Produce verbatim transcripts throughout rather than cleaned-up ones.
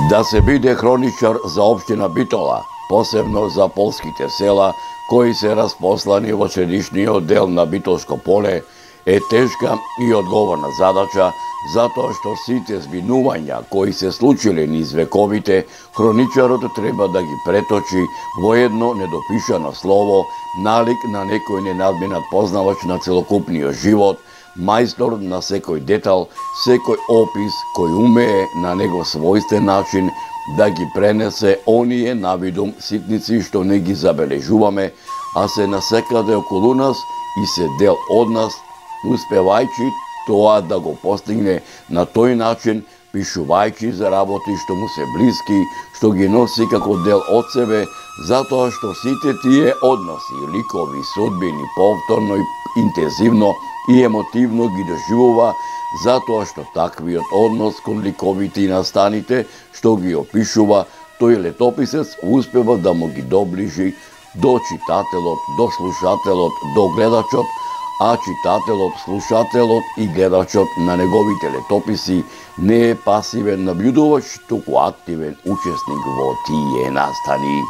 Да се биде хроничар за општина Битола, посебно за полските села кои се распослани во средишниот дел на Битолско поле, е тешка и одговорна задача, затоа што сите збинувања кои се случиле низ вековите, хроничарот треба да ги преточи во едно недопишано слово, налик на некој ненадминат познавач на целокупниот живот, мајстор на секој детал, секој опис кој умее на него својствен начин да ги пренесе оние навидум ситници што не ги забележуваме, а се насекаде околу нас и се дел од нас, успевајќи тоа да го постигне на тој начин, пишувајќи за работи што му се блиски, што ги носи како дел од себе, затоа што сите тие односи, ликови, судбини, повторно и интензивно и емотивно ги доживува, затоа што таквиот однос кон ликовите и настаните, што ги опишува, тој летописец успева да му ги доближи до читателот, до слушателот, до гледачот, а читателот, слушателот и гледачот на неговите летописи не е пасивен наблюдувач, туку активен учесник во тие настани.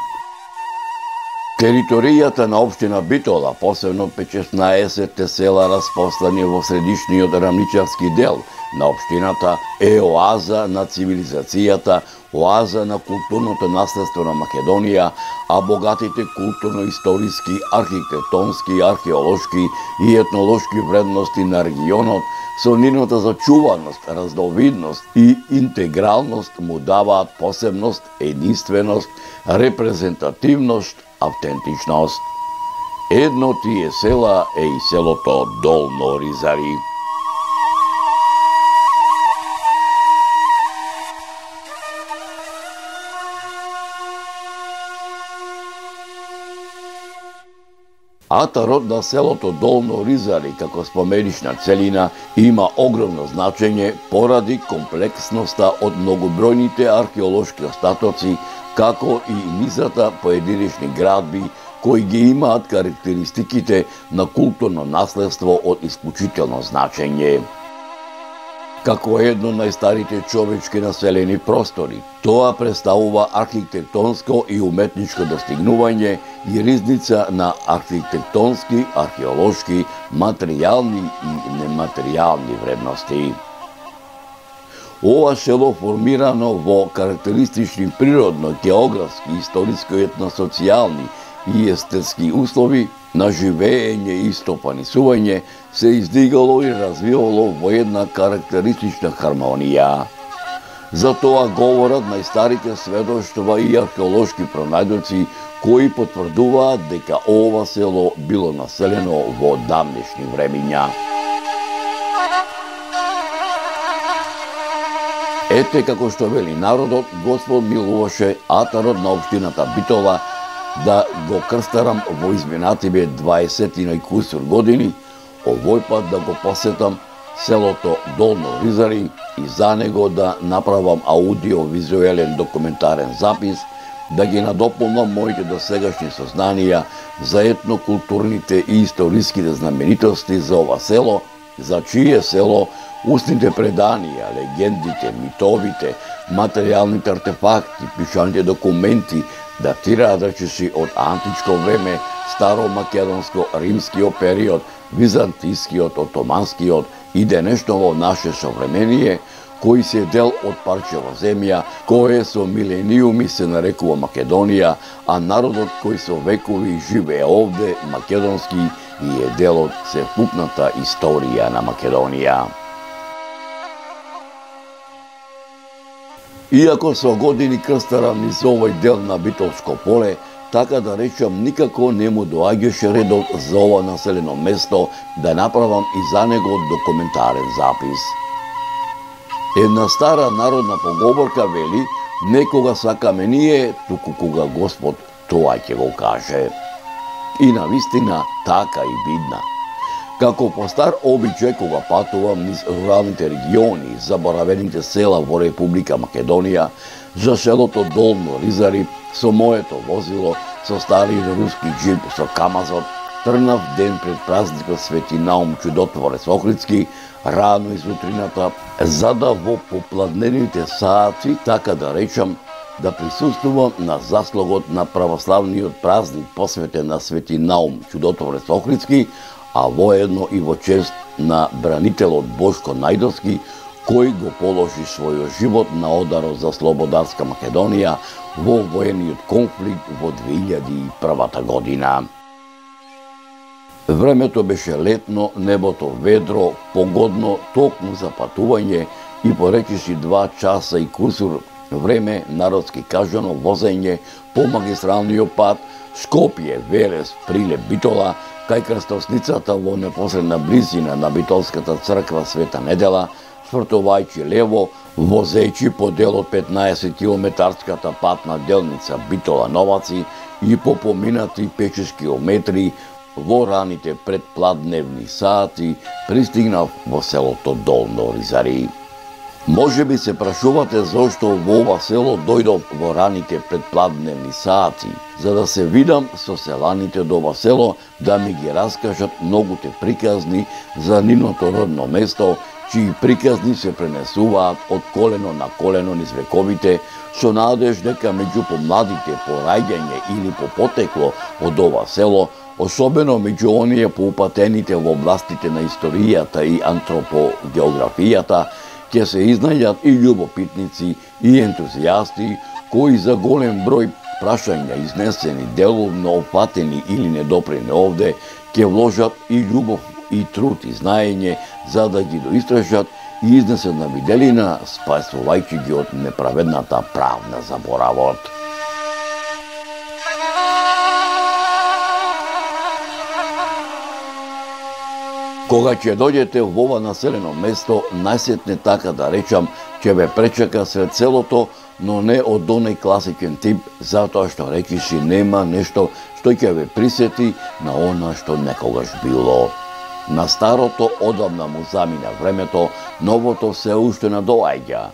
Територијата на општина Битола, посебно петшеснаесетте села распослани во средишниот рамничарски дел на општината, е оаза на цивилизацијата, оаза на културното наследство на Македонија, а богатите културно-историски, архитектонски, археолошки и етнолошки вредности на регионот со нивната зачуваност, разновидност и интегралност му даваат посебност, единственост, репрезентативност, автентичност. Едно од тие села е и селото Долно Ризари. Атарот на селото Долно Ризари како споменична целина има огромно значење поради комплексноста од многобројните археолошки остатоци, како и низата поединечни градби кои ги имаат карактеристиките на културно наследство од исклучително значење. Како едно од најстарите човечки населени простори, тоа представува архитектонско и уметничко достигнување и ризница на архитектонски, археолошки, материјални и нематеријални вредности. Ова село формирано во карактеристични природно, географски, историско, етносоцијални и естетски услови на живеење и стопанисување се издигало и развивало во една карактеристична хармонија. За тоа говорат најстарите сведоштва и археолошки пронајдоци кои потврдуваат дека ова село било населено во давнешни времиња. Ете како што вели народот, Господ милуваше атарот на општината Битола да го крстарам во изминативе дваесетина и кусур години, овој пат да го посетам селото Долно Ризари и за него да направам аудио-визуелен документарен запис, да ги надополнам моите досегашни сознанија за етнокултурните и историските знаменитости за ова село, за чие село устните преданија, легендите, митовите, материјалните артефакти, пишаните документи датираат речиси од античко време, старомакедонско, римскиот период, византискиот, отоманскиот и денешно во наше современие, кои се дел од парчево земја, кое со милениуми се нарекува Македонија, а народот кој со векови живее овде, македонски, и е дел од севкупната историја на Македонија. Иако со години крстарам низ овој дел на Битолско поле, така да речам, никако не му доаѓаше редот за ова населено место да направам и за него документарен запис. Една стара народна поговорка вели, некога сакаме ние, туку кога Господ тоа ќе го каже. И навистина така и бидна. Како по стар обичај кога патувам низ руралните региони, заборавените села во Република Македонија, за селото Долно Ризари со моето возило, со стариот руски джип со камазот, трнав ден пред празникот Свети Наум Чудотворец Охридски, рано изутрината, за да во попладнените саати, така да речам, да присуствувам на заслогот на православниот празник посветен на Свети Наум Чудотворец Охридски, а воедно и во чест на бранителот Бошко Најдовски, кој го положи својот живот на ударот за слободарска Македонија во воениот конфликт во две илјади и прва година. Времето беше летно, небото ведро, погодно токму за патување и поречиси два часа и курсур време, народски кажано, возење по магистралниот пат Скопје, Велес, Прилеп, Битола, кај крстосницата во непосредна близина на Битолската црква Света Недела, свртувајќи лево, возејќи по дел од петнаесет километарската патна делница Битола-Новаци и по поминати пет-шест километри во раните предпладневни сати пристигнав во селото Долно Ризари. Може би се прашувате зошто во ова село дојдов во раните предпладневни сати, за да се видам со селаните до ова село, да ми ги раскажат многуте приказни за нивното родно место, чии приказни се пренесуваат од колено на колено низ вековите, со надеж дека меѓу помладите по раѓање или по потекло од ова село, особено меѓу оние поупатените во областите на историјата и антропогеографијата, ќе се изнајдат и љубопитници и ентузијасти кои за голем број прашања изнесени, деловно опатени или недопрени овде, ќе вложат и љубов и труд и знаење за да ги доистражат и изнесат на виделина, спасувајќи ги од неправедната правна заборавот. Кога ќе дојдете во ова населено место, најсетне така да речам, ќе ве пречека сред селото, но не од оној класичен тип, затоа што речиси нема нешто што ќе ве присети на она што некогаш било. На старото одамна му замина времето, новото се уште надоаѓа.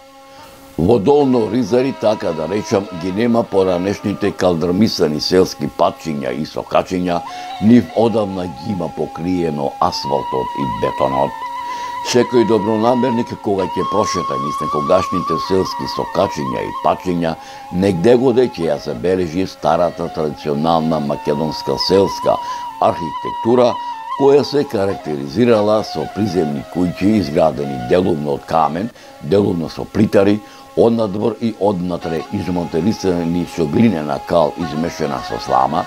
Во Долно Ризари, така да речам, ги нема поранешните калдрмисани селски патчиња и сокачиња, нив одамна ги има покриено асфалтот и бетонот. Секој добронамерник кога ќе прошета низ некогашните селски сокачиња и патчиња, негде годе ќе ја забележи старата традиционална македонска селска архитектура, која се карактеризирала со приземни куќи изградени делумно од камен, делумно со плитари, однадвор и однатре измонтерисани со глинена кал измешана со слама,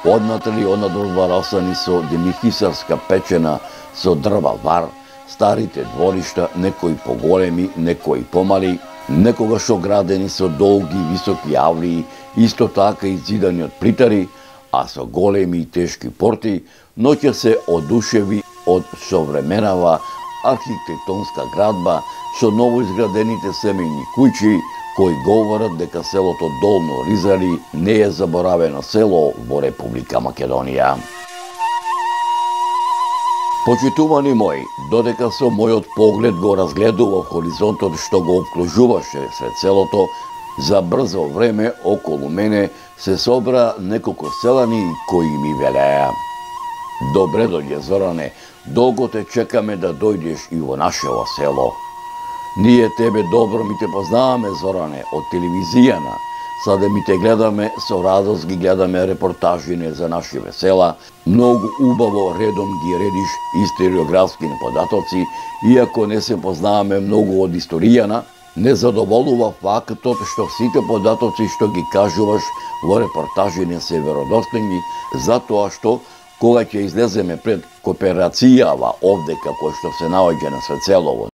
однатре и однадвор варосани со демихисарска печена со дрва вар, старите дворишта, некои поголеми, некои помали, некогаш оградени со долги високи авлии, исто така изидани од плитари, а со големи и тешки порти, но ќе се одушеви од современава архитектонска градба со новоизградените семејни куќи, кои говорат дека селото Долно Ризари не е заборавено село во Република Македонија. Почитувани мои, додека со мојот поглед го разгледував хоризонтот што го обкружуваше сред селото, за брзо време околу мене се собра неколку селани кои ми велеа: "Добре дојде, Зоране, долго те чекаме да дојдеш и во нашево село. Ние тебе добро ми те познаваме, Зоране, од телевизијана. Саде ми те гледаме, со радост ги гледаме репортажине за нашиве села. Многу убаво редом ги редиш историографски податоци, иако не се познаваме многу од историјана, не задоволува фактот што сите податоци што ги кажуваш во репортажине се веродостојни, затоа што кога ќе излеземе пред кооперацијава овде како што се наоѓа на Свецелово,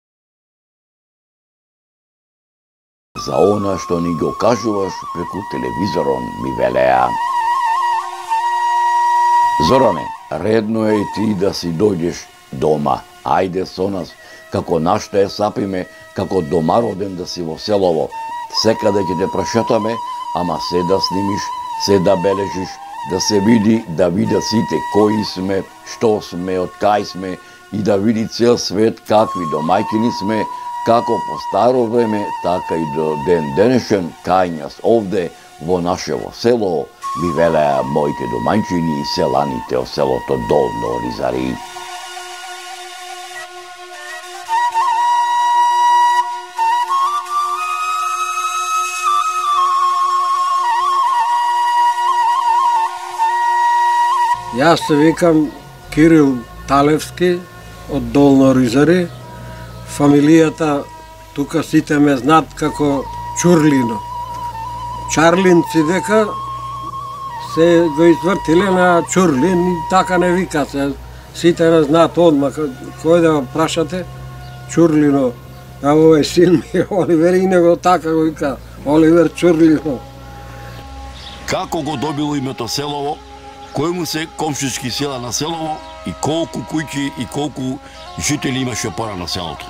за она што ни го кажуваш преку телевизорон, ми велеа: "Зоране, редно е и ти да си дојдеш дома. Ајде со нас, како нашта е сапиме, како домароден да си во селово. Секаде ќе те прошетаме, ама се да снимиш, се да бележиш, да се види, да видат сите кои сме, што сме, од кај сме и да види цел свет какви домајќини сме, како по старо време, така и до ден денешен кај нас овде во нашево село", ми велеа моите домајчини и селаните од селото Долно Ризари. Јас се викам Кирил Талевски од Долно Оризари. Фамилијата тука сите ме знаат како Чурлино. Чарлинци дека се го извртиле на Чурлин и така не вика се. Сите ме знаат одма, кој да го прашате, Чурлино. А овој син ми, Оливер, и него така го вика, Оливер Чурлино. Како го добило името селово, кои му се комшички села на селово и колку куќи и колку жители имаше пора на селото?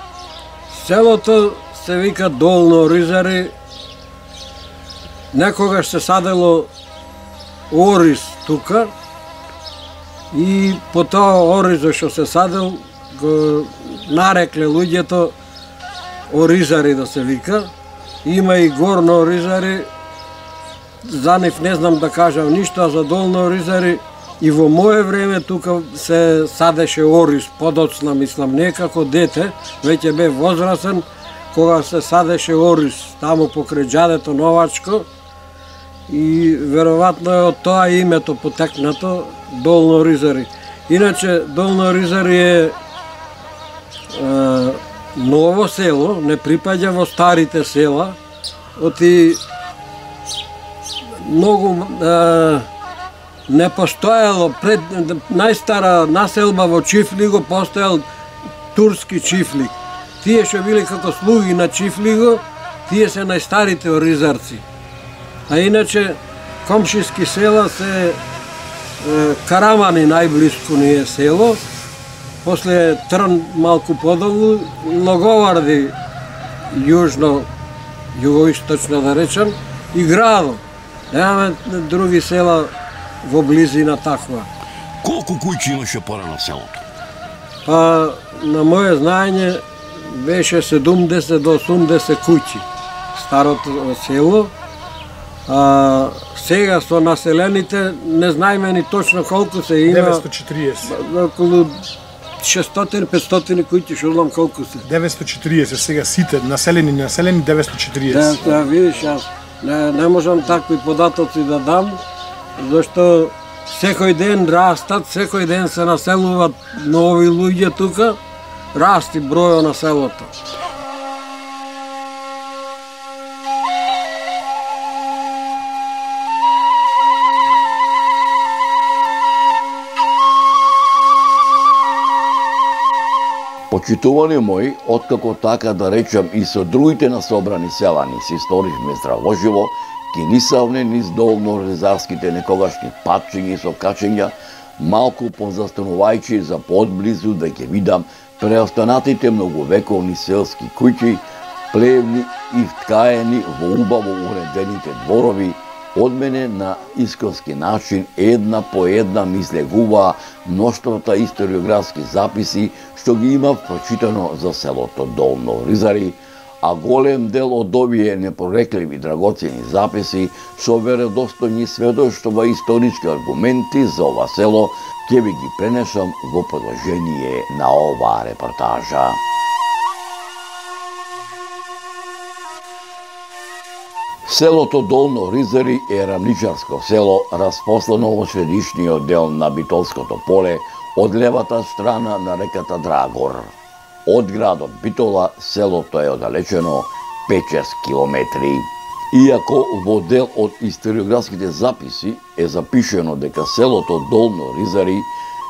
Селото се вика Долно Оризари. Некогаш се садело ориз тука и по тоа оризо што се садел го нарекле луѓето Оризари да се вика. Има и Горно Оризари. За нив не знам да кажам ништо, а за Долно Оризари и во мое време тука се садеше ориз, подоцна мислам, не како дете, веќе бе возрасен, кога се садеше ориз таму покрај џадето Новачко и веројатно е од тоа името потекнато Долно Оризари. Иначе Долно Оризари е, е ново село, не припаѓа во старите села, оти многу е, не постоело пред најстара населба во Чифлиго постоел турски Чифлик. Тие што били како слуги на Чифлиго, тие се најстарите оризарци. А иначе комшиски села се е, Карамани најблиску ни е село, после Трн малку подолу, Логоварди јужно, југоисточно да речем, и Градо. Немаме други села во близина таква. Колку куќи имаше пора на селото? Па, на моје знаење, беше седумдесет до осумдесет куќи старото село. А, сега со населените не знаеме ни точно колку се има. деветстотини и четириесет. Околу шестстотини петстотини куќи, што знам колку се. деветстотини и четириесет, сега сите населени, населени деветстотини и четириесет. Да, да, видиш, јас не, не можам такви податоци да дам, зашто секој ден растат, секој ден се населуваат нови луѓе тука, расти бројот на селото. Почитувани мои, откако така да речам и со другите насобрани селани се историчме здравоживо, ки нисавне низ долно-оризарските некогашни патчиња и сокачења, малку позастанувајќи за подблизу да ќе видам преостанатите многовековни селски куќи, плевни и вткаени во убаво уредените дворови, од мене на исконски начин една по една ми излегуваа мноштвата историографски записи што ги имав прочитано за селото Долно Оризари, а голем дел од овие непрорекливи драгоцени записи со веродостојни сведоштва и исторички аргументи за ова село ќе ви ги пренесам во продолжение на оваа репортажа. Селото Долно Оризари е рамничарско село, распослано во средишниот дел на Битолското поле, од левата страна на реката Драгор. Од градот Битола селото е оддалечено пет-шест километри. Иако во дел од историографските записи е запишено дека селото Долно Оризари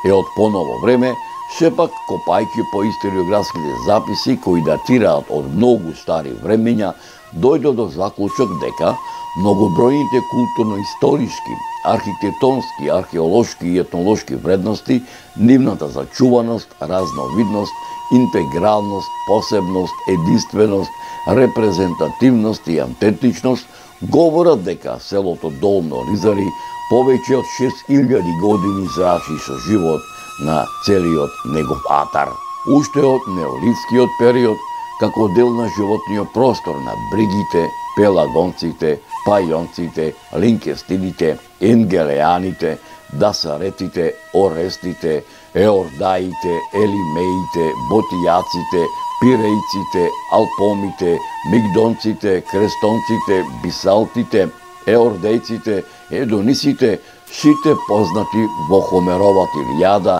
е од поново време, сепак копајќи по историографските записи кои датираат од многу стари времења, дојде до заклучок дека многобројните културно-историски, архитектонски, археолошки и етнолошки вредности, нивната зачуваност, разновидност, интегралност, посебност, единственост, репрезентативност и аутентичност говорат дека селото Долно Оризари повеќе од шест илјади години зрачи со живот на целиот негов атар. Уште од неолитскиот период, како дел на животниот простор на бригите, пелагонците, пајонците, линкестидите, енгелеаните, дасаретите, орестите, еордаите, елимеите, ботијаците, пирејците, алпомите, мигдонците, крестонците, бисалтите, еордејците, едонисите, сите познати во Хомеровата Илијада,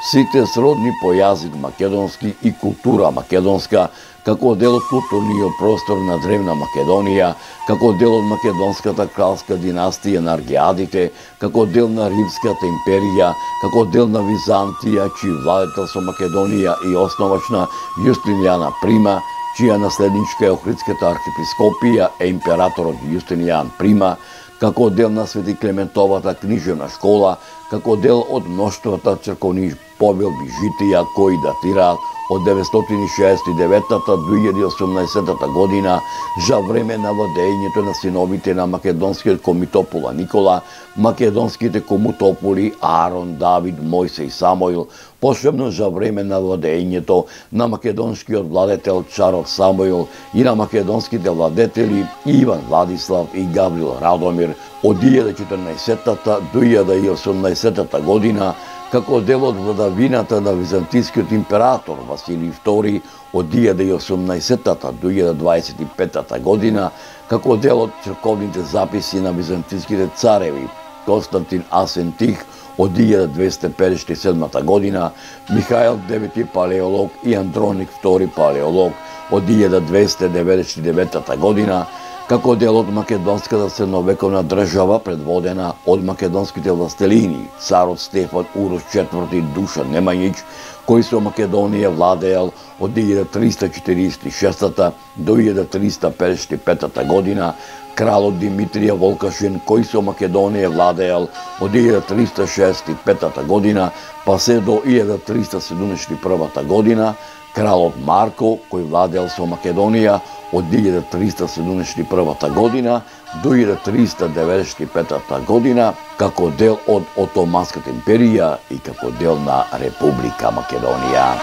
сите сродни по јазик македонски и култура македонска, како дел од културниот простор на древна Македонија, како дел од македонската кралска династија на Аргиадите, како дел на Римската империја, како дел на Византија, чиј владетел со Македонија и основачна Јустинијана Прима, чија наследничка е Охридската архиепископија е императорот Јустинијан Прима, како дел на Свети Клементовата книжевна школа, како дел од мноштвата црковни повелби житија кои датираат од деветстотини шеесет и девета до две илјади и осумнаесета година, за време на владењето на синовите на македонскиот комитопола Никола, македонските комутополи Аарон, Давид, Мојсе и Самоил, посебно за време на владењето на македонскиот владетел царот Самоил и на македонските владетели Иван Владислав и Гаврил Радомир од две илјади и четрнаесета до две илјади и осумнаесета година, како дел од владавината на византискиот император Василий втори од две илјади и осумнаесета до две илјади дваесет и пета година, како дел од црковните записи на византиските цареви Константин Асен Тих од две илјади двесте педесет и седма година, Михаил девети Палеолог и Андроник втори Палеолог од две илјади двесте деветдесет и девета година, како дел од македонската средновековна држава предводена од македонските властелини, царот Стефан Урош четврти Душан Немањич, кој со Македонија владеел од две илјади триста четиридесет и шеста до две илјади триста педесет и пета година, кралот Димитрија Волкашин, кој со Македонија владеел од две илјади триста шеесет и пета година, па се до илјада триста седумдесет и прва година, кралот Марко, кој владеел со Македонија од две илјади триста седумдесет и прва година до илјада триста деветдесет и пета година, како дел од Отоманската империја и како дел на Република Македонија.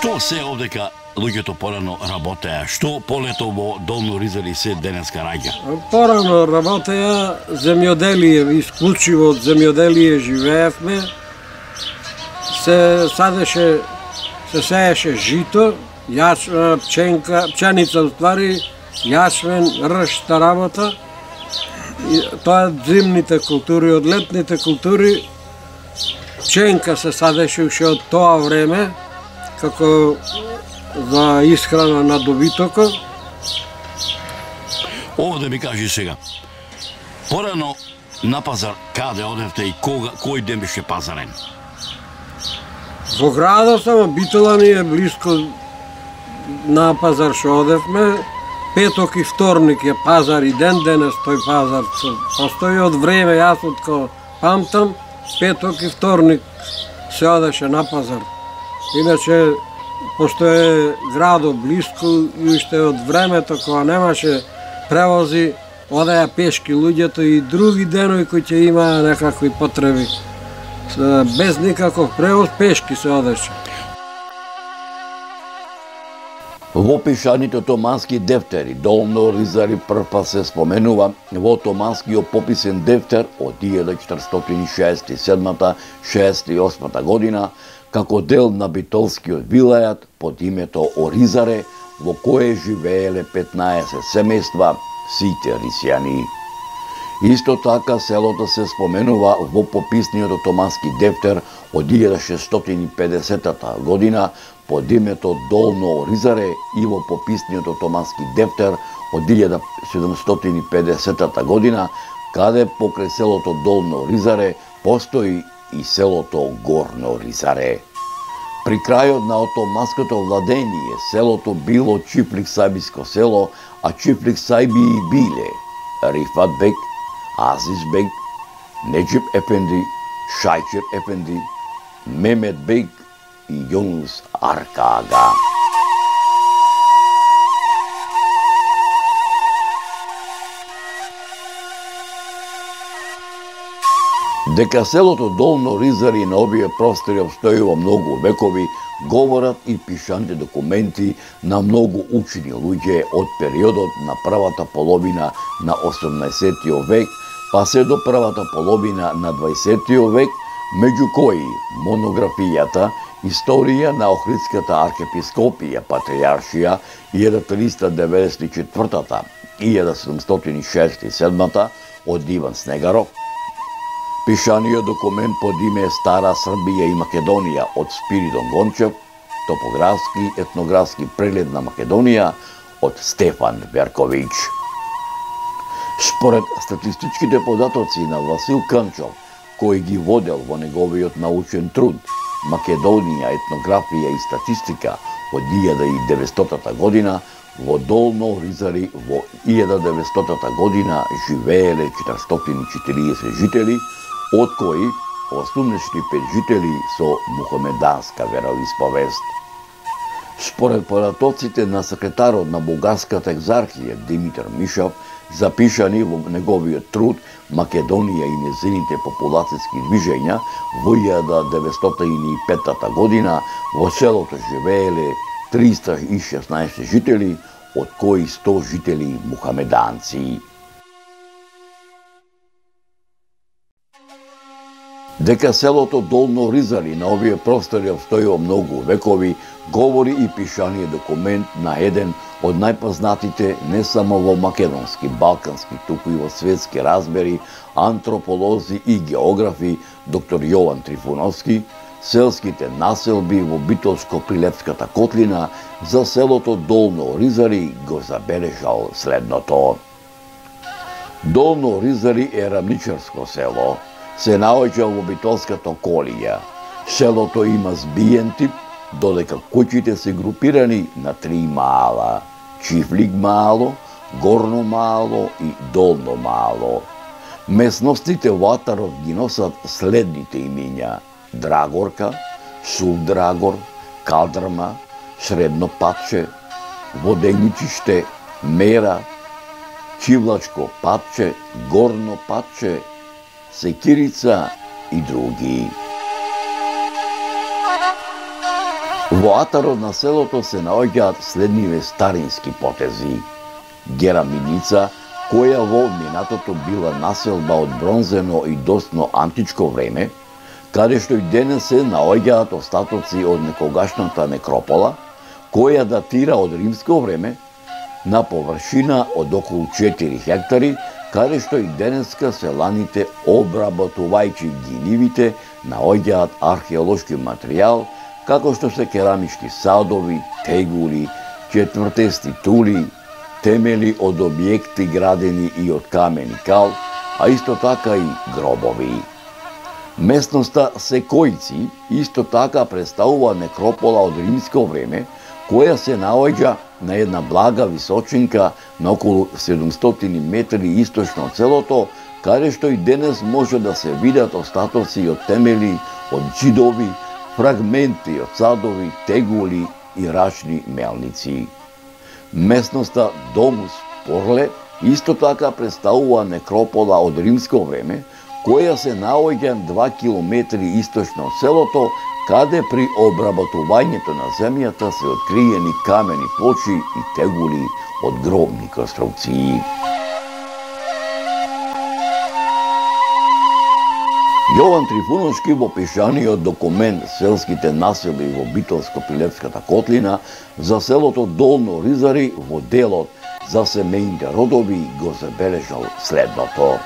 Што се овдека луѓето порано работеа? Што полето во Долно Ризали се денеска раѓа? Порано работеа земјоделие, исклучиво од земјоделие живеевме. Се садеше, се сееше жито, јач, пченка, пченица уствари, јачмен, ршта работа. И тоа зимните култури, од летните култури пченка се садеше уште од тоа време, како за исхрана на добитокот. Ово да ми кажи сега. Порано на пазар каде одевте и кога, кој ден беше пазарен? Во градот само Битола ни е блиско на пазар што одевме. Петок и вторник е пазар и ден денес тој пазар постои од време, јас откако памтам, петок и вторник се одеше на пазар. Иначе, пошто е градот блиско и уште од времето кога немаше превози, одеа пешки луѓето и други денови кои ќе имаа некакви потреби. Без никаков превоз, пешки се одеше. Во пишаните отомански дефтери Долно Ризали првпат се споменува во отоманскиот пописен дефтер од илјада четиристотини шеесет и седма до шеесет и осма година, како дел на битолскиот вилајат под името Оризаре, во кое живееле петнаесет семејства, сите рисјани. Исто така селото се споменува во пописниот отомански дефтер од илјада шестстотини и педесета година под името Долно Оризаре и во пописниот отомански дефтер од илјада седумстотини и педесета година, каде покрај селото Долно Оризаре постои и селото Горно Ризаре. При крајот на отоманското владење, селото било Чифлик Сајбиско село, а Чифлик Сајби биле Рифат бек, Азиз бек, Неџип ефенди, Шајчир ефенди, Мемет бек и Јунус Арка ага. Дека селото Долно Ризари на овие простори обстојува многу векови, говорат и пишаните документи на многу учени луѓе од периодот на првата половина на осумнаесеттиот век, па се до првата половина на дваесеттиот век, меѓу кои монографијата Историја на Охридската архиепископија Патриаршија илјада триста деветдесет и четвртата и илјада седумстотини и шеесет и седмата од Иван Снегаров, пишаниот документ под име Стара Србија и Македонија од Спиридон Гончев, топографски етнографски преглед на Македонија од Стефан Верковиќ. Според статистичките податоци на Васил Канчов, кој ги водел во неговиот научен труд Македонија, етнографија и статистика од илјада и деветстотата година, во Долно Оризари во илјада деветстотата година живееле четиристотини и четириесет жители, од кои осумдесет и пет жители со мухамеданска вероисповест. Според податоците на секретарот на Бугарската екзархија Димитар Мишов, запишани во неговиот труд Македонија и незините популацијски движења, во илјада деветстотини и петата година во селото живееле триста и шеснаесет жители, од кои сто жители мухамеданци. Дека селото Долно Оризари на овие простори обстојува многу векови, говори и пишаниот документ на еден од најпознатите не само во македонски, балкански, туку и во светски разбери, антрополози и географи, доктор Јован Трифуновски, селските населби во Битолско-Прилепската котлина за селото Долно Оризари го забележал следното. Долно Оризари е рамничарско село, се наоѓа во Битолската околија. Селото има збиен тип, додека куќите се групирани на три маала: Чифлик маало, Горно маало и Долно маало. Местностите во атарот ги носат следните имиња: Драгорка, Сув Драгор, Калдрма, Средно Патче, Воденичиште, Мера, Чивлачко Патче, Горно Патче, Секирица и други. Во атарот на селото се наоѓаат следниве старински потези: Гераминица, која во минатото била населба од бронзено и досно античко време, каде што и денес се наоѓаат остатоци од некогашната некропола, која датира од римско време, на површина од околу четири хектари, каде што и денеска селаните, обработувајќи ги нивите, наоѓаат археолошки материјал, како што се керамички садови, тегули, четвртести тули, темели од објекти градени и од камен и кал, а исто така и гробови. Местноста Секојци исто така представува некропола од римско време, која се наоѓа на една блага височинка на околу седумстотини метри источно од селото, каде што и денес може да се видат остатоци од темели, од џидови, фрагменти од садови, тегули и рачни мелници. Местноста Домус Порле исто така представува некропола од римско време, која се наоѓа два километри источно од селото, каде при обработувањето на земјата се откриени камени плочи и тегули од гробни конструкции. Јован Трифуновски во пишаниот документ Селските населби во Битолско-Прилепската котлина за селото Долно Оризари во делот за семејните родови го забележал следното.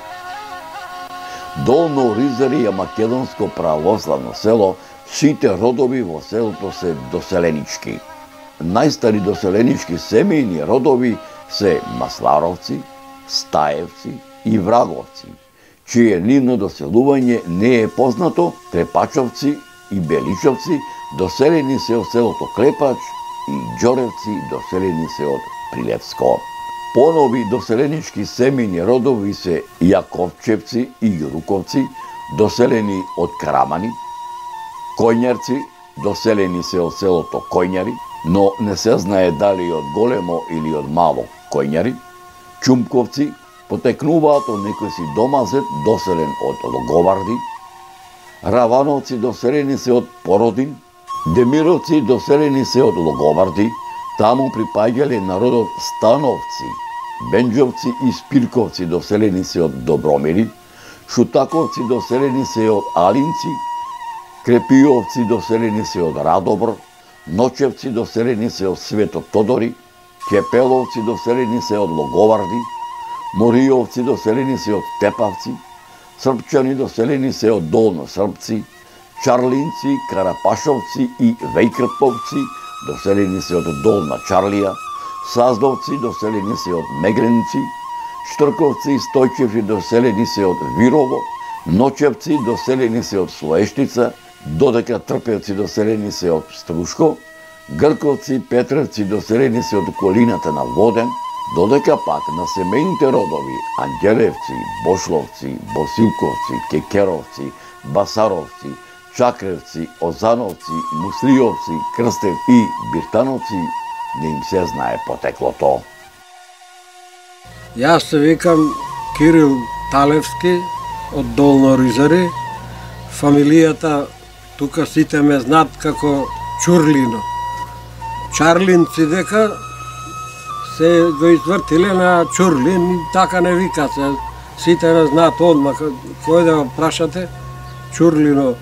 Долно Оризари е македонско православно село, сите родови во селото се доселенички. Најстари доселенички семејни родови се Масларовци, Стаевци и Враговци, чие нивно доселување не е познато. Трепачовци и Беличовци доселени се од селото Клепач и Ѓоревци доселени се од Прилепско. Понови доселенички семејни родови се Јаковчевци и Јуруковци, доселени од Карамани, Коњарци, доселени се од селото Коњари, но не се знае дали од големо или од мало Коњари, Чумковци, потекнуваат од некој си домазет, доселен од Логоварди, Равановци, доселени се од Породин, Демировци, доселени се од Логоварди, таму припаѓале народот Становци, Бенџовци и Спирковци доселени се од Добромири, Шутаковци доселени се од Алинци, Крепиовци доселени се од Радобр, Ночевци доселени се од Свето Тодори, Кепеловци доселени се од Логоварди, Мориовци доселени се од Тепавци, Српчани доселени се од Долно Српци, Чарлинци, Карапашовци и Вејкрповци доселени се од Долна Чарлија, Саздовци доселени се од Мегренци, Штрковци и Стојчевци доселени се од Вирово, Ночевци доселени се од Слоештица, додека Трпевци доселени се од Струшко, Грковци и Петревци доселени се од околината на Воден, додека пак на семејните родови Ангелевци, Бошловци, Босилковци, Кекеровци, Басаровци, Чакревци, Озановци, Муслиовци, Крстев и Биртановци не им се знае потеклото. Јас се викам Кирил Талевски од Долно Ризари. Фамилијата тука сите ме знаат како Чурлино. Чарлинци дека се го извртиле на Чурлин и така не вика се. Сите ме знаат одма. Кој да го прашате? Чурлино.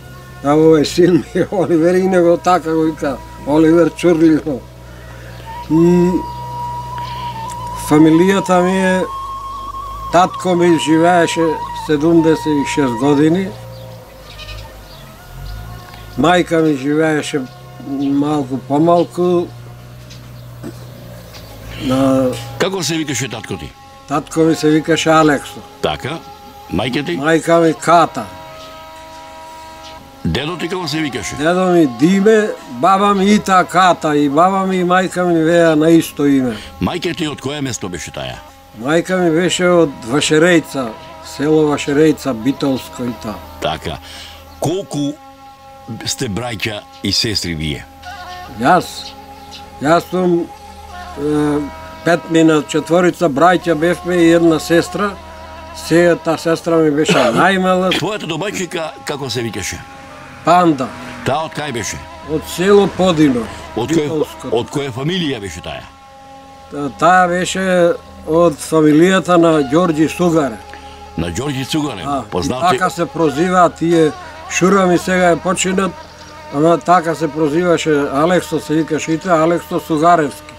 А овој син ми е Оливер и него така го вика. Оливер Чурлино. И фамилијата ми е, татко ми живееше седумдесет и шест години, мајка ми живееше малку помалку. На... Како се викаше татко ти? Татко ми се викаше Алексо. Така, мајка ти? Мајка ми Ката. Дедо ти како се викаше? Дедо ми Диме, баба ми Ита Ката и баба ми и мајка ми веа на исто име. Мајка ти од кое место беше таја? Мајка ми беше од Вашерејца, село Вашерејца, Битолско и та. Така. Колку сте браќа и сестри вие? Јас, јас сум е, пет мина четворица браќа бевме и една сестра. Сега та сестра ми беше најмала. Твојата домајчика како се викаше? Панда. Таа од кај беше? Од село Подино. Од кој, од која фамилија беше таја? Таа беше од фамилијата на Ѓорѓи Сугаре. На Ѓорѓи Сугаре, А, познати... така се прозиваат тие, Шура ми сега е починат, ама така се прозиваше Алексо, се викаше ите Алексо Сугаревски.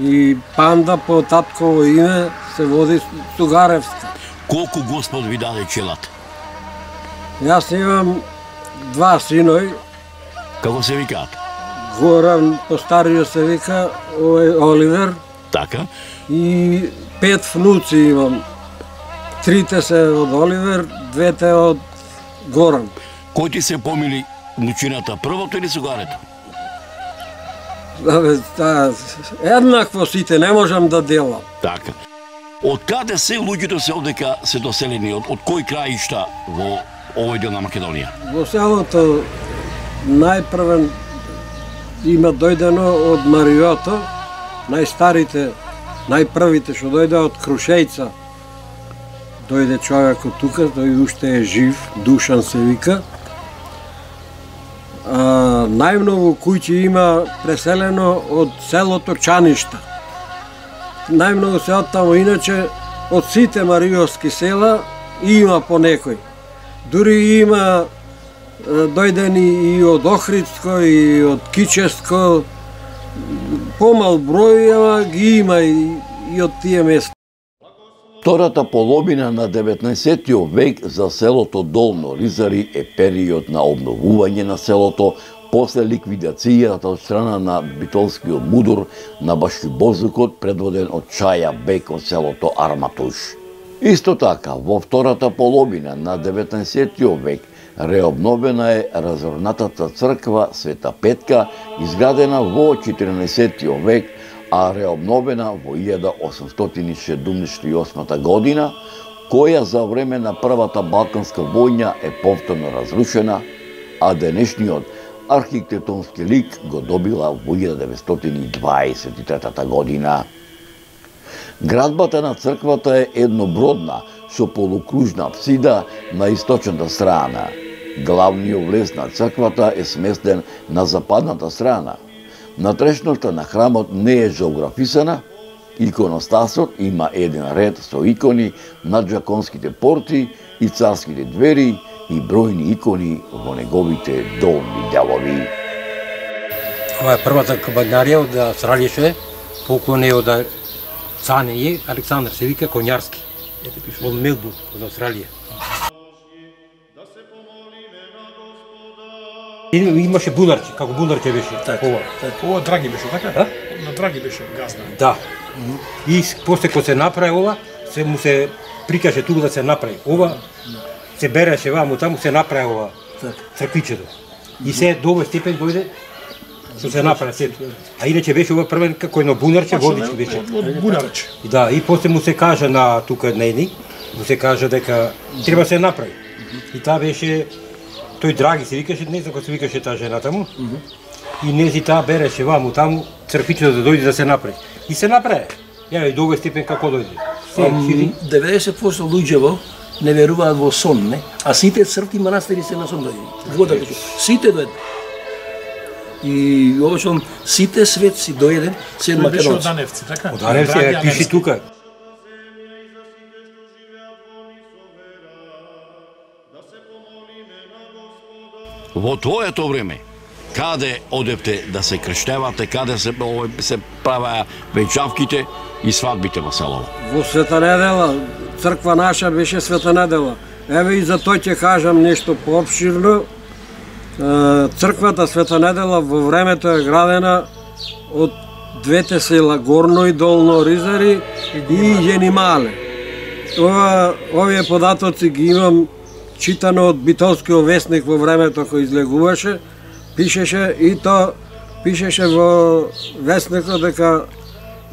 И Панда по татково име се води Сугаревска. Колку Господ ви даде челат? Јас имам два синој, Како се викаат? Горан, постариот се вика овој Оливер, Така. и пет внуци имам. Трите се од Оливер, двете од Горан. Кој ти се помили внучината, првото или Сугарето? Абе, та, еднакво сите, не можам да делам. Така. Од каде се луѓето се одека се доселени, од, од кој краишта во овој дел на Македонија? Во селото најпрвен има дојдено од Мариото, најстарите, најпрвите што дојде од Крушејца. Дојде човекот тука, тој уште е жив, Душан се вика. А, најмногу куќи има преселено од селото Чаништа. Најмногу се оттамо, иначе од сите мариовски села има по некој. Дури има дојдени и од Охридско, и од Кичевско, помал број, ама ги има и, и од тие места. Втората половина на деветнаесеттиот век за селото Долно Ризари е период на обновување на селото после ликвидацијата од страна на битолскиот мудур на Башибозукот, предводен од Чаја Бек од селото Арматуш. Исто така, во втората половина на деветнаесеттиот век реобновена е разорнатата црква Света Петка, изградена во четирнаесеттиот век, а реобновена во илјада осумстотини седумдесет и осма година, која за време на Првата Балканска војна е повторно разрушена, а денешниот архитектонски лик го добила во илјада деветстотини дваесет и трета година. Градбата на црквата е еднобродна, со полукружна апсида на источната страна. Главниот влез на црквата е сместен на западната страна. Натрешноста на храмот не е зеографисана, Иконостасот има еден ред со икони над джаконските порти и царските двери и бројни икони во неговите долни делови. Ова е првата кабанарија од Австралија, поклон е од Цане е, Александар се вика Конјарски, од Мелбурн, од Австралија. Имаше бунарче, како бунарче беше, ова. Ова Драги беше, така? На Драги беше газда. Да. И после кога се направи ова, се му се прикаже туку да се направи. Ова се береше ваму таму, се направи ова црквичето. И се до овој степен дојде што се направи сето. А иначе беше ова првен како едно бунарче, водички беше. Од бунарче. Да, и после му се кажа на тука нейни, му се кажа дека треба да се направи. И таа беше тој Драги се викаше, не знам како се викаше таа жена таму. И нези таа береше ваму таму црквичето да дојде да се направи. И се направи. Ја и до овој степен како дојде. деветдесет проценти луѓево не веруваат во сон, не? А сите цркви манастири се на сон дојде. Вода беше. Сите дојде. И обично сите светци дојде, се македонци. Беше од Даневци, така? Од Даневци, пиши тука. Во твоето време, каде одевте да се крштевате, каде се, се правеа венчавките и свадбите во селово? Во Света недела, црква наша беше Света недела. Еве и за тој ќе кажам нешто поопширно. Црквата Света недела во времето е градена од двете села, Горно и Долно Ризари и Јенимале. Ова, овие податоци ги имам читано од Битолскиот весник во времето кој излегуваше, пишеше и то пишеше во весникот дека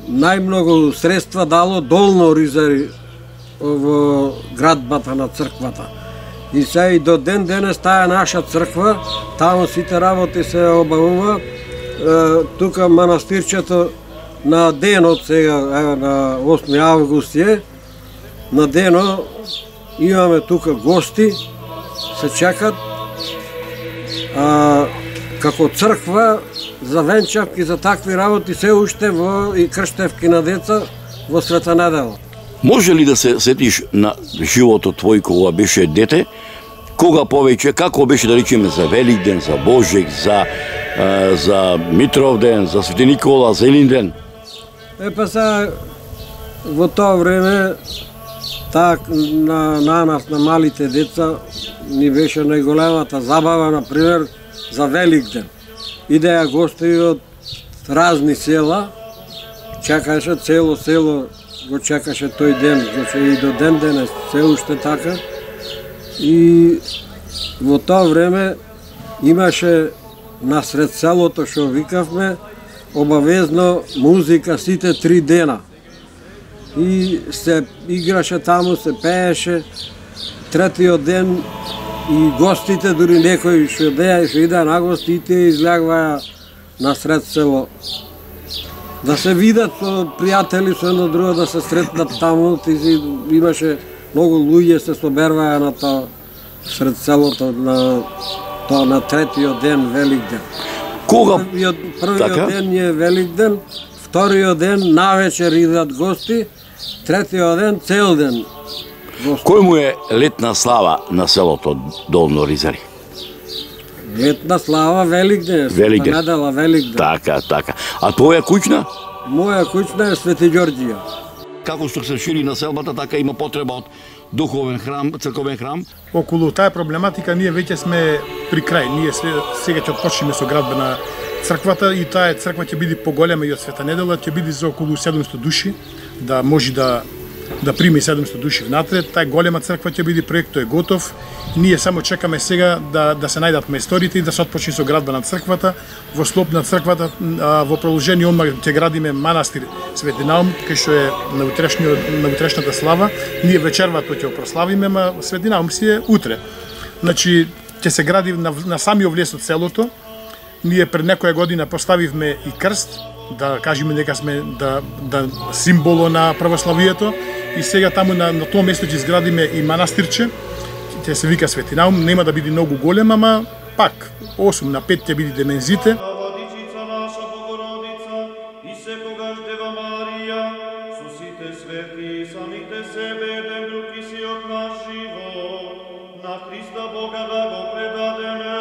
најмногу средства дало Долно Ризари во градбата на црквата. И се и до ден денес таа наша црква, таму сите работи се обавува. Тука манастирчето на денот сега, еве на осми август е, на денот имаме тука гости, се чекат. А, како црква за венчавки, за такви работи се уште во и крштевки на деца во Света недела. Може ли да се сетиш на животот твој кога беше дете? Кога повеќе, како беше да речеме за Великден, за Божек, за, а, за Митровден, за Свети Никола, за Елинден? Е па са, во тоа време, так, на, на нас, на малите деца, ни беше најголемата забава, например, за Великден. Идеја гости од разни села, чекаше цело село, го чекаше тој ден, значи и до ден денес се уште така. И во тоа време имаше насред селото што викавме обавезно музика сите три дена. И се играше таму, се пееше. Третиот ден и гостите, дури некои што деја што идеа на гости, тие излегваа насред село. Да се видат со пријатели, со едно друго, да се сретнат таму, ти си имаше многу луѓе се соберваа на тоа сред селото на тоа на третиот ден Великден. Кога? Првиот, првиот така? ден е Великден, вториот ден навечер идат гости, третиот ден цел ден гости. Кој му е летна слава на селото Долно Ризари? Летна слава Великден, Великден. недела Великден. Така, така. А твоја куќна? Моја куќна е Свети Ѓорѓија. Како што се шири населбата, така има потреба од духовен храм, црковен храм. Околу таа проблематика ние веќе сме при крај. Ние сега ќе отпочнеме со градба на црквата и таа црква ќе биде поголема и од Света недела, ќе биде за околу седумстотини души, да може да да прими седумстотини души внатре. Таа голема црква ќе биде, проектот е готов. Ние само чекаме сега да да се најдат мајсторите и да се отпочне со градба на црквата. Во слоп на црквата, во продолжение одма ќе градиме манастир Свети Наум, кај што е на утрешниот на утрешната слава. Ние вечервато ќе прославиме, ма Свети Наум си е утре. Значи ќе се гради на, на самиот влез од селото. Ние пред некоја година поставивме и крст, да кажеме дека сме да да символо на православието, и сега таму на, на тоа место ќе изградиме и манастирче. Ќе се вика Свети Наум, нема да биде многу голем, ама пак осум на пет ќе биде демензите. Владичица наша Богородица и секогаш Дева Марија, Свети самите себе, еден друг и си од наш живот, на Христа Бога да го предадеме.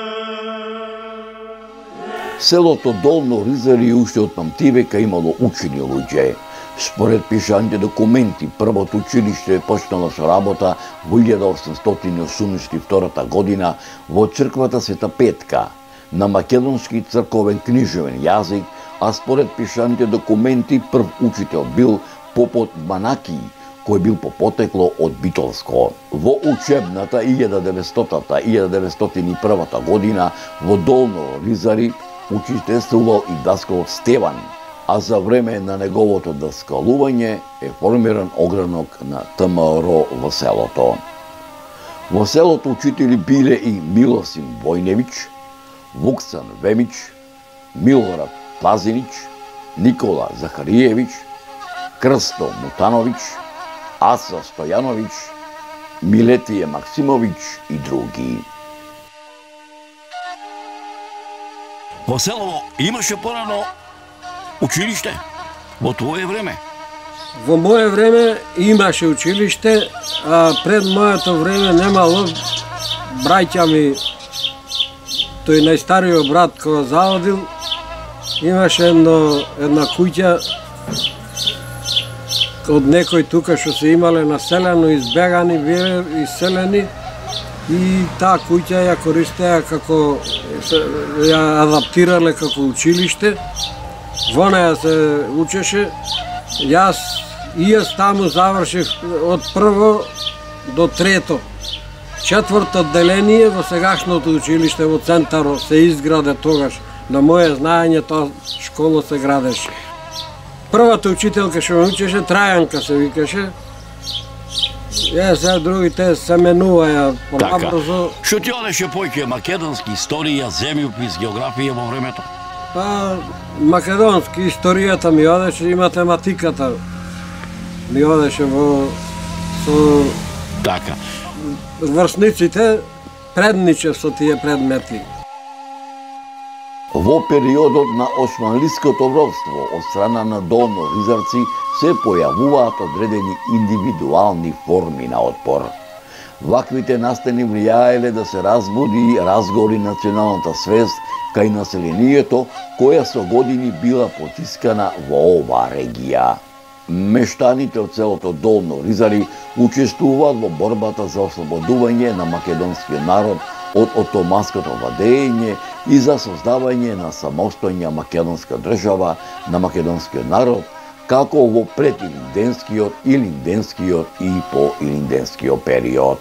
Селото Долно Ризари уште од памтивека имало учени луѓе. Според пишаните документи, првото училиште почнало со работа во илјада осумстотини осумдесет и втора година во црквата Света Петка на македонски црковен книжевен јазик, а според пишаните документи прв учител бил попот Банакиј, кој бил по потекло од Битолско. Во учебната илјада деветстотина - илјада деветстотини и прва година во Долно Ризари учителствувал и даскалот Стеван, а за време на неговото даскалување е формиран огранок на Т М Р во селото. Во селото учители биле и Милосим Војневиќ, Вуксан Вемиќ, Милорад Пазинич, Никола Захариевиќ, Крсто Мутановиќ, Аса Стојановиќ, Милетије Максимовиќ и други. Во село имаше порано училиште во твое време? Во мое време имаше училиште, а пред моето време немало. Браќа ми, тој најстариот брат кој заводил, имаше едно, една куќа од некој тука што се имале населено, избегани биле, иселени, и таа куќа ја користеа како, ја адаптирале како училиште. Во неја се учеше. Јас и јас таму завршив од прво до трето. Четврто одделение во сегашното училиште во центарот се изграде тогаш. На моје знаење таа школа се градеше. Првата учителка што ме учеше, Трајанка се викаше. Е, сега другите се менуваја побрзо. Така. Што ти одеше поќе македонски историја, земјопис, географија во времето? Па, македонски историјата ми одеше и математиката ми одеше во со Така. врсниците предниче со тие предмети. Во периодот на османлиското робство од страна на Долно Ризарци се појавуваат одредени индивидуални форми на отпор. Ваквите настани влијаеле да се разбуди и разгори националната свест кај населението, која со години била потискана во оваа регија. Мештаните од селото Долно Ризари учествуваат во борбата за ослободување на македонскиот народ од отоманското владење и за создавање на самостојна македонска држава на македонскиот народ, како во предилинденскиот, илинденскиот и поилинденскиот период.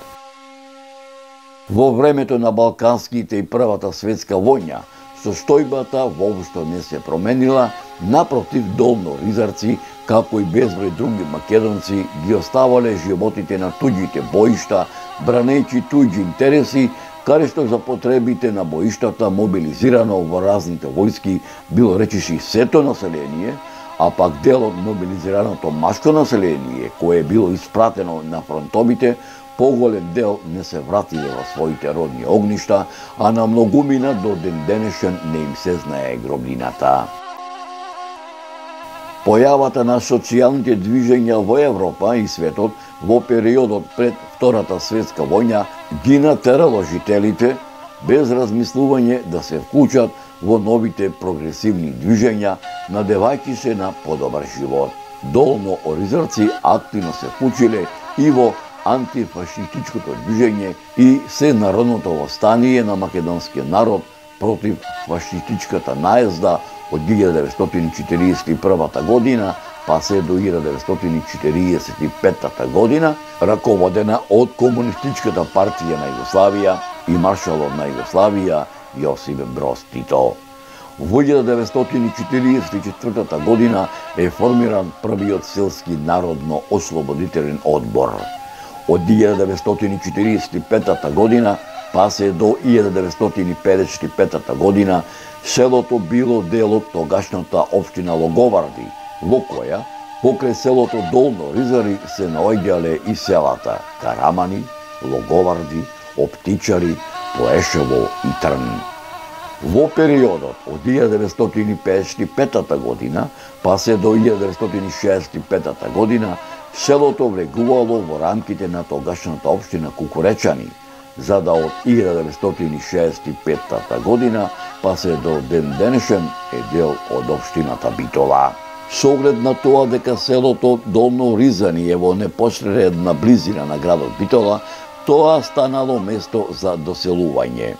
Во времето на Балканските и Првата светска војна, состојбата воопшто не се променила, напротив Долно Ризарци, како и безброј други македонци, ги оставале животите на туѓите боишта, бранејќи туѓи интереси, каде што за потребите на боиштата мобилизирано во разните војски било речиси сето население, а пак дел од мобилизираното машко население, кое е било испратено на фронтовите, поголем дел не се вратиле во своите родни огништа, а на многумина до ден денешен не им се знае гробнината. Појавата на социјалните движења во Европа и светот во периодот пред Втората светска војна ги натерало жителите без размислување да се вклучат во новите прогресивни движења, надевајќи се на подобар живот. Долно Ризарци активно се вклучиле и во антифашистичкото движење и сенародното востание на македонскиот народ против фашистичката наезда од илјада деветстотини четиридесет и прва година па се до илјада деветстотини четиридесет и пета година, раководена од Комунистичката партија на Југославија и маршалот на Југославија Јосип Броз Тито. Во илјада деветстотини четиридесет и четврта година е формиран првиот селски народно-ослободителен одбор. Од илјада деветстотини четиридесет и пета година па се до илјада деветстотини педесет и пета година селото било дел од тогашната општина Логоварди, во која покрај селото Долно Ризари се наоѓале и селата Карамани, Логоварди, Оптичари, Поешево и Трн. Во периодот од илјада деветстотини педесет и пета година па се до илјада деветстотини шеесет и пета година Селото влегувало во рамките на тогашната општина Кукуречани, за да од илјада деветстотини шеесет и петта година па се до ден денешен е дел од општината Битола. Со оглед на тоа дека селото Долно Ризани е во непосредна близина на градот Битола, тоа станало место за доселување.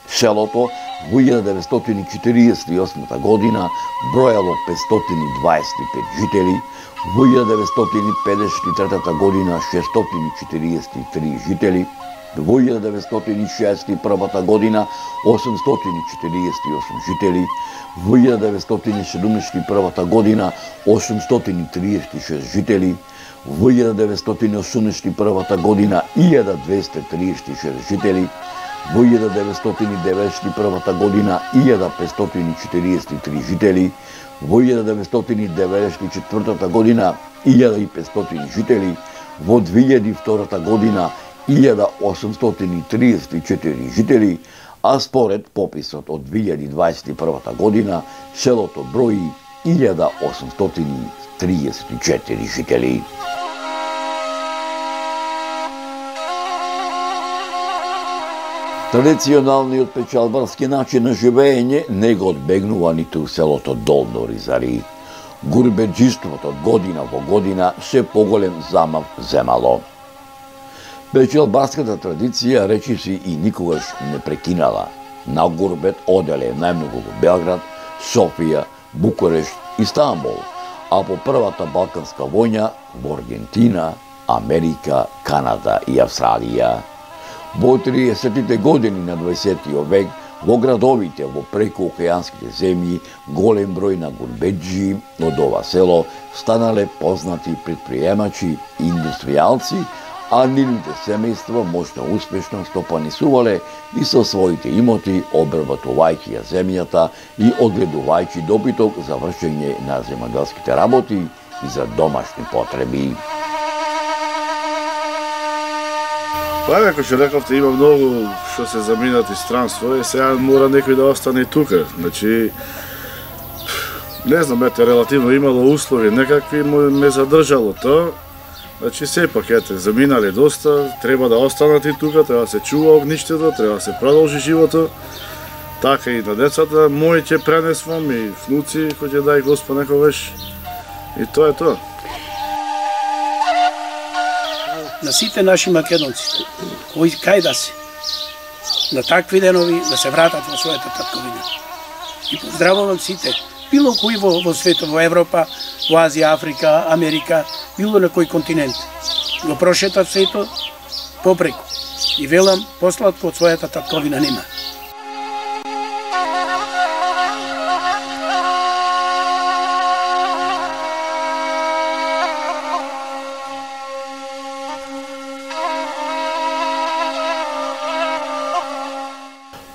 Селото во илјада деветстотини четириесет и осма година бројало петстотини дваесет и пет жители, во илјада деветстотини педесет и трета година шестстотини четириесет и три жители, во илјада деветстотини шеесет и прва година осумстотини четириесет и осум жители, во илјада деветстотини седумдесет и прва година осумстотини триесет и шест жители, во илјада деветстотини осумдесет и прва година илјада двесте триесет и шест жители, во илјада деветстотини деветдесет и прва година илјада петстотини четириесет и три жители, во илјада деветстотини деветдесет и четврта година илјада и петстотини жители, во две илјади и втора година илјада осумстотини триесет и четири жители, а според пописот од две илјади дваесет и прва година селото брои илјада осумстотини триесет и четири жители. Традиционалниот печалбарски начин на живење не го одбегнува ниту селото Долно Ризари. Гурбеџиството од година во година се поголем замав земало. Печалбарската традиција речиси и никогаш не прекинала. На гурбет оделе најмногу во Белград, Софија, Букурешт и Стамбул, а по првата Балканска војна во Аргентина, Америка, Канада и Австралија. Во триесеттите години на дваесеттиот век, во градовите во прекоокеанските земји, голем број на гурбеџи од ова село станале познати предприемачи и индустријалци, а нивните семејства мощно успешно стопанисувале и со своите имоти обработувајќи ја земјата и одгледувајќи добиток за вршење на земјоделските работи и за домашни потреби. Па, како што рековте, има многу што се заминати странство и сега мора некој да остане тука. Значи, не знам, ете, релативно имало услови некакви, ме задржало тоа. Значи, сепак, ете, заминале доста, треба да останат и тука, треба да се чува огништето, треба да се продолжи живото. Така и на децата, мои ќе пренесвам и внуци, кој ќе дај Господ некогаш. И тоа е тоа. На сите наши македонци, кои кај да се, на такви денови да се вратат во својата татковина. И поздравувам сите, било кој во, во светот, во Европа, во Азија, Африка, Америка, било на кој континент. Го прошетат светот попреку. И велам, посладко од својата татковина нема.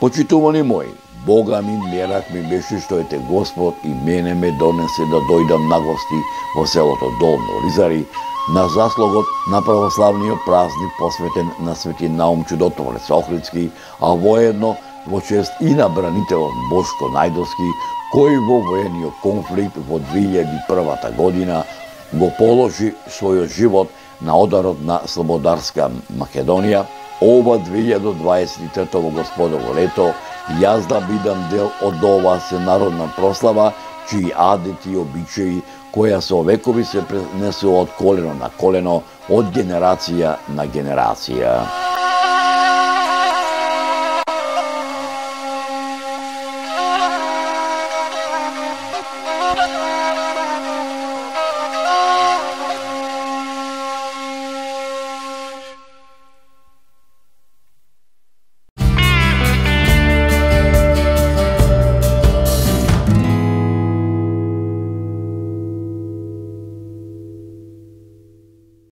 Почитувани мои, Бога ми мерак ми беше што ете Господ и мене ме донесе да дојдам на гости во селото Долно Ризари на заслугот на православниот празник посветен на Свети Наум Чудотворец Охридски, а воедно во чест и на бранителот Бошко Најдовски, кој во воениот конфликт во две илјади и прва година го положи својот живот на ударот на слободарска Македонија. Ова две илјади дваесет и трета во Господово лето, јас да бидам дел од оваа сенародна прослава, чии адети и обичаи, која со векови се пренесува од колено на колено, од генерација на генерација.